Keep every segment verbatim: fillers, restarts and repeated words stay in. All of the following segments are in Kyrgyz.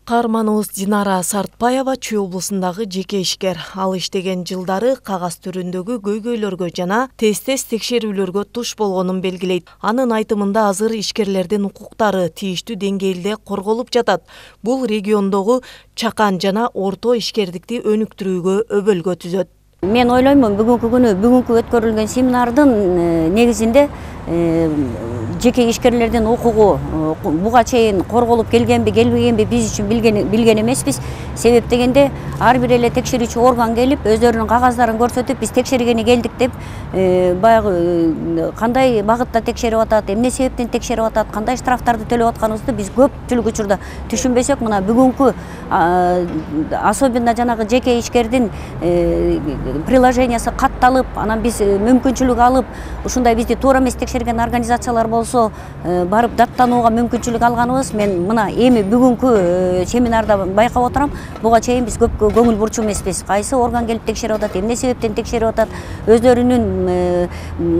Каарманыбыз Динара Сартбаева Чүй облусундагы жеке ишкер. Ал иштеген жылдары кагаз түрүндөгү көйгөйлөргө жана тез-тез текшерүүлөргө туш болгонун белгилейт. Анын айтымында азыр ишкерлердин укуктары тийиштүү деңгээлде корголуп жатат. Бул региондогу чакан жана орто ишкердикти өнүктүрүүгө өбөлгө түзөт. Мен ойлоймун, бүгүнкү күнү бүгүнкү өткөрүлгөн семинардын негизинде жеке ишкерлердин укугу буга чейин корголуп келгенби, келбегенби биз үчүн билген билген эмеспиз. Себеп дегенде ар бир эле текшерүүчү орган келип, өздөрүнүн кагаздарын көрсөтүп, биз текшергени келдик деп, баягы кандай багытта текшерип атат, эмне себептен текшерип атат, кандай штрафтарды төлөп атканыбызды биз көпчүлүк учурда түшүнбөсөк, мына бүгүнкү особенно жанагы жеке ишкердин приложениясы катталып, анан биз мүмкүнчүлүк алып, ушундай бизди туура эмес текшерген организациялар болсо, барып даттанууга мүмкүнчүлүк алганыбыз, мен мына эми бүгүнкү семинарда байкап отурам, буга чейин биз көп көңүл бурчу эмеспиз. Кайсы орган келип текшерип атат, эмне себептен текшерип атат, өздөрүнүн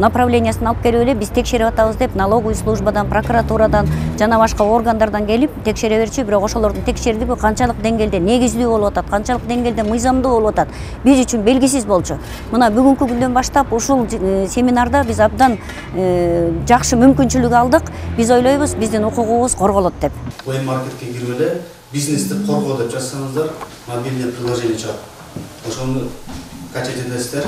направлениясын алып келип эле биз текшерип атабыз деп, налоговый службадан, прокуратурадан жана башка органдардан келип текшере берчү, бирок ошолордун текшердиги канчалык деңгээлде негиздүү болуп атат, канчалык деңгээлде мыйзамдуу болуп атат, биз үчүн белгисиз болчу. Мына бүгүнкү күндөн баштап ушул семинарда биз абдан жакшы мүмкүнчүлүк алдык. Биз ойлойбуз, биздин укугубуз корголот деп. Плей маркетке кирип эле бизнести коргоо деп жазсаңыздар, мобильный приложение чыгат. Ошону качать этесиздер,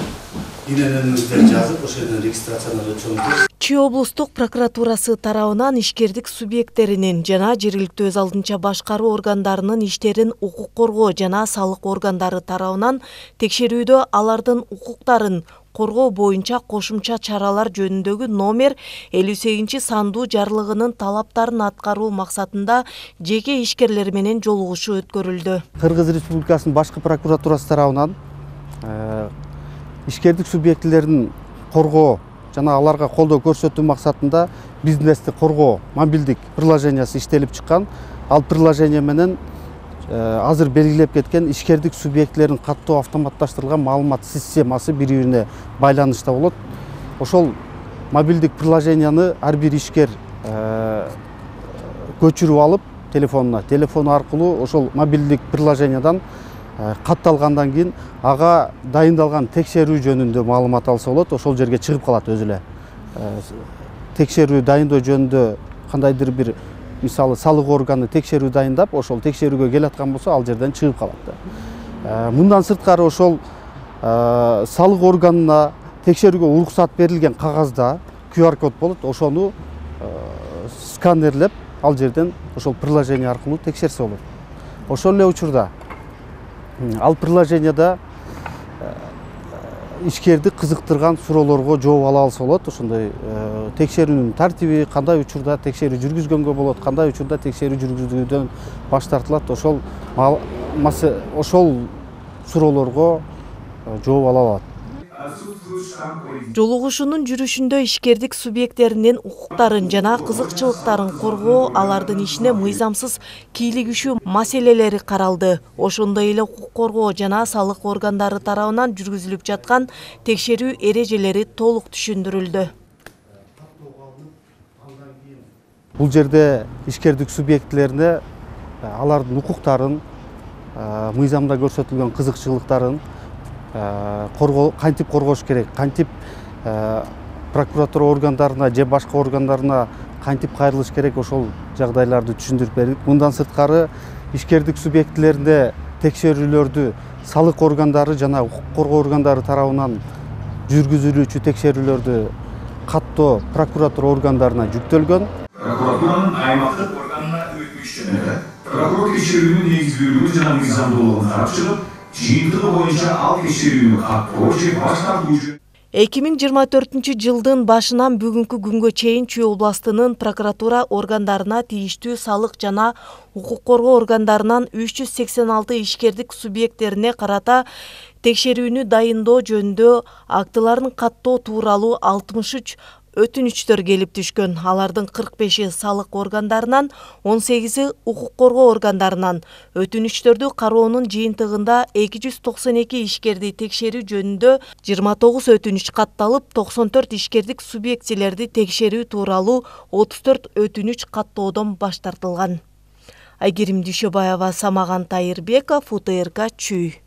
ИННиңизди жазып, ошол жерден регистрацияны өтүшөңүздөр. Чүй облустук прокуратурасы тарабынан ишкердик субъекттеринин жана жергиликтүү өз алдынча башкаруу органдарынын иштерин укук коргоо жана салык органдары тарабынан текшерүүдө алардын укуктарын коргоо боюнча кошумча чаралар жөнүндөгү номер элүү сегизинчи сандуу жарлыгынын талаптарын аткаруу максатында жеке ишкерлер менен жолугушуу өткөрүлдү. Кыргыз Республикасынын башкы прокуратурасы тарабынан ишкердик субъектилерин коргоо жана аларга колдоо көрсөтүү максатында бизнести коргоо мобилдик приложениясы иштелип чыккан. Ал приложение менен азыр белгилеп кеткен ишкердик субъектилерин каттоо автоматташтырылган маалымат системасы бири-бирине байланышта болот. Ошол мобилдик приложенияны ар бир ишкер көчүрүп алып телефонуна, телефону аркылуу ошол мобилдик приложениядан катталгандан кийин ага дайындалган текшерүү жөнүндө маалымат алса болот, ошол жерге чыгып калат өзү эле. Текшерүү дайындоо жөнүндө кандайдыр бир, мисалы, салык органы текшерүү дайындап, ошол текшерүүгө келаткан болсо, ал жерден чыгып калат. Мындан сырткары ошол салык органына текшерүүгө уруксат берилген кагазда ку ар код болот, ошону сканерлеп, ал жерден ошол приложение аркылуу текшерсе болот. Ошол эле учурда ал приложенияда ишкерди кызыктырган суроолорго жооп ала алса болот. Ошондой текшерүүнүн тартиби, кандай учурда текшерүү жүргүзгөнгө болот, кандай учурда текшерүү жүргүзүүдөн баш тартылат, ошол ошол суроолорго жооп ала алат. Жолугушуунун жүрүшүндө ишкердик субъекттеринин укуктарын жана кызыкчылыктарын коргоо, алардын ишине мыйзамсыз кийлигишүү маселелери каралды. Ошондой эле укук коргоо жана салык органдары тарабынан жүргүзүлүп жаткан текшерүү эрежелери толук түшүндүрүлдү. Бул жерде ишкердик субъектилерине алардын укуктарын, мыйзамда көрсөтүлгөн кызыкчылыктарын кантип коргош керек, кантип прокуратура органдарына же башка органдарына кантип кайрылыш керек, ошол жагдайларды түшүндүрүп бердик. Мындан сырткары ишкердик субъектилеринде текшерүүлөрдү салык органдары жана укук коргоо органдары тарабынан жүргүзүлүүчү текшерүүлөрдү каттоо прокуратура органдарына жүктөлгөн. Прокуратуранын аймактык органына өтмүш жөнүндө прокурор текшерүүнүн негиздүүлүгүн жана мыйзамдуулугун карап чыгып, жыйынтыгы боюнча ал текшерүүнү каттоо же баш тартуу. эки миң жыйырма төртүнчү жылдын башынан бүгүнкү күнгө чейин Чүй областынын прокуратура органдарына тийиштүү салык жана укук коргоо органдарынан үч жүз сексен алты ишкердик субъекттерине карата текшерүүнү дайындоо жөнүндө актыларын каттоо тууралуу алтымыш үч өтүнүчтөр келип түшкөн. Алардын кырк беши салык органдарынан, он сегизи укук коргоо органдарынан. Өтүнүчтөрдү кароонун жыйынтыгында эки жүз токсон эки ишкерди текшерүү жөнүндө жыйырма тогуз өтүнүч катталып, токсон төрт ишкердик субъектилерди текшерүү тууралуу отуз төрт өтүнүч каттоодон баш тартылган. Айгерим Дүйшөбаева, Самаган Тайырбеков, УТРК Чүй.